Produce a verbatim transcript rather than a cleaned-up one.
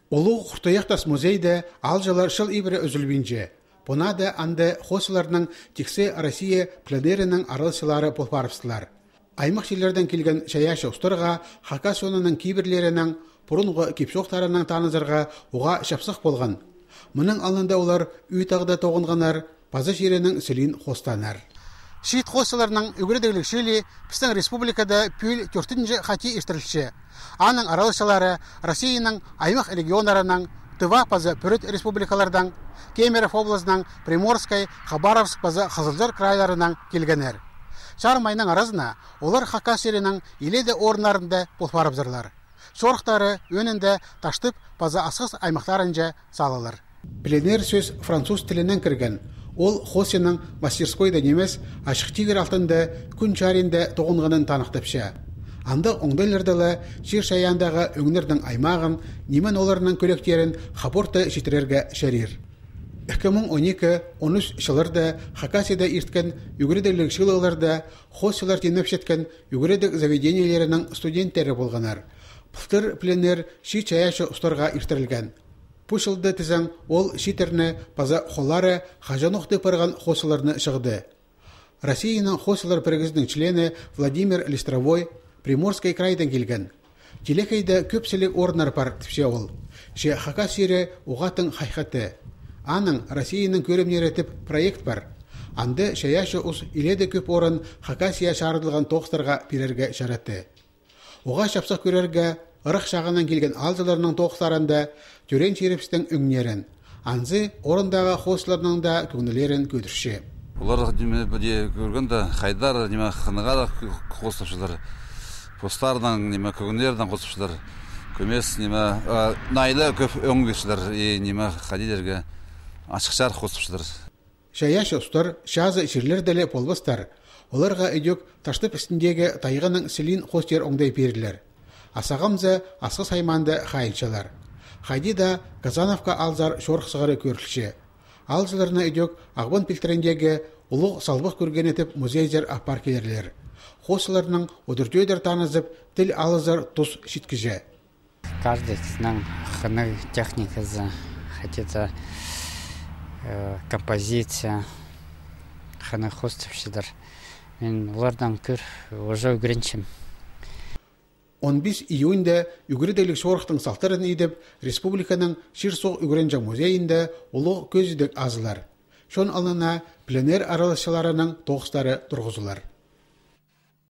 Улуғ Хуртуях тас музейде аалҷылар чыл ибіре ӱзӱлбинче. Пу наада анда хоосчыларның тиксі Россия пленерінің араласчылары пол парыбыстылар. Аймах чирлердең килген чайаачы устарға Хакас чонының кибірлерінің, пурунғы кип-чоохтарынаң танызарға уғаа чапсых полған. Мының алнында олар ӱй тағда тоғынғаннар, паза чирінің сілиин хоостааннар. Чиит хоосчыларның ӱгредігліг чыылии пістің республикада пӱӱл тӧртінҷі хати иртірілче. Аның араласчылары Россияның аймах регионнарынаң, Тыва паза Пӱрӱт республикалардаң, Кемерово облазынаң, Приморскай, Хабаровск паза Хызылчар крайларынаң килгеннер. Чарым айның аразына олар Хакас чирінің илееде орыннарында пол парыбызарлар. Чорыхтары ӧӧнінде Таштып паза Асхыс аймахтарынҷа салылар. Пленер сӧс француз тілінең кірген. Ол хоосчының мастерскойда нимес, ачых тигір алтында, кӱн чарыйында тоғынғанын таныхтапча. Андағ оңдайларда ла чир-чайаандағы ӧңнернің аймағын, нимен оларның кӧлектерін хаборта читірерге чарир. Ікі муң он ікі, он ӱс чылларда Хакасияда ирткен ӱгредігліг чыылығларда хоосчылар тимнепчеткен ӱгредіг заведениелерінің студенттері полғаннар. Пылтыр пленер чиит чайаачы устарға иртірілген. Пу чылда тізең ол чииттерні паза холлары хаҷанох тіп парған хоосчыларны чығды. Россияның хоосчылар пірігізінің члені Владимир Листровой Приморский крайдаң килген. Телекейде кӧп сіліг орыннар пар, тіпче ол. Че Хакас чирі уғаа тың хайхатты. Аның Россияның кӧрімнері тіп проект пар. Анда чайаачы ус илееде кӧп орын Хакасия чарыдылған тоғыстарға пирерге чаратты. Уғаа чапсых кӧрерге ырах чағынаң килген аалҷыларның тоғыстарында тӧреен чирібістің ӧңнерін, анзы орындағы хоосчыларның даа кӧңнілерін кӧдірче. Олар, ниме, піди кӧргенде, хайдар, ниме, хынығ ла хоостапчалар. Постарының, ниме, кӧңнілерінең хоостапчалар. Кӧмес, ниме, а, най ла кӧп ӧң пирчелер, и, ниме, хайди дирге, ачыхчар хоостапчалар. Чайаачы устар чазы чирлерде ле полбастар. Оларға ідӧк Таштып істіндегі тайғаның сілиин хоостир оңдай пирерлер. А сағамза Асхыс аймаанда хайынчалар. Хайди даа Казановка аалзар чорых сығара кӧрілче. Аалҷыларны ідӧк Ағбан пилтіріндегі улуғ салбах кӧргені тіп музейзер аппар килерлер. Хоосчыларның удур-тӧдір танызып, тіл алызар тус читкіҷе. Каждыйсының хынығ техниказы, хотя, э, композиция, хынығ хоостапчалар. Мин олардаң кӧр, уже ӱгренчем. Он пис июньда ӱгредігліг чорыхтың салтарын идіп, республиканың чир-суғ ӱгренҷең музейінде улуғ кӧзідіг азылар. Чон алнына пленер араласчыларының тоғыстары турғызылар.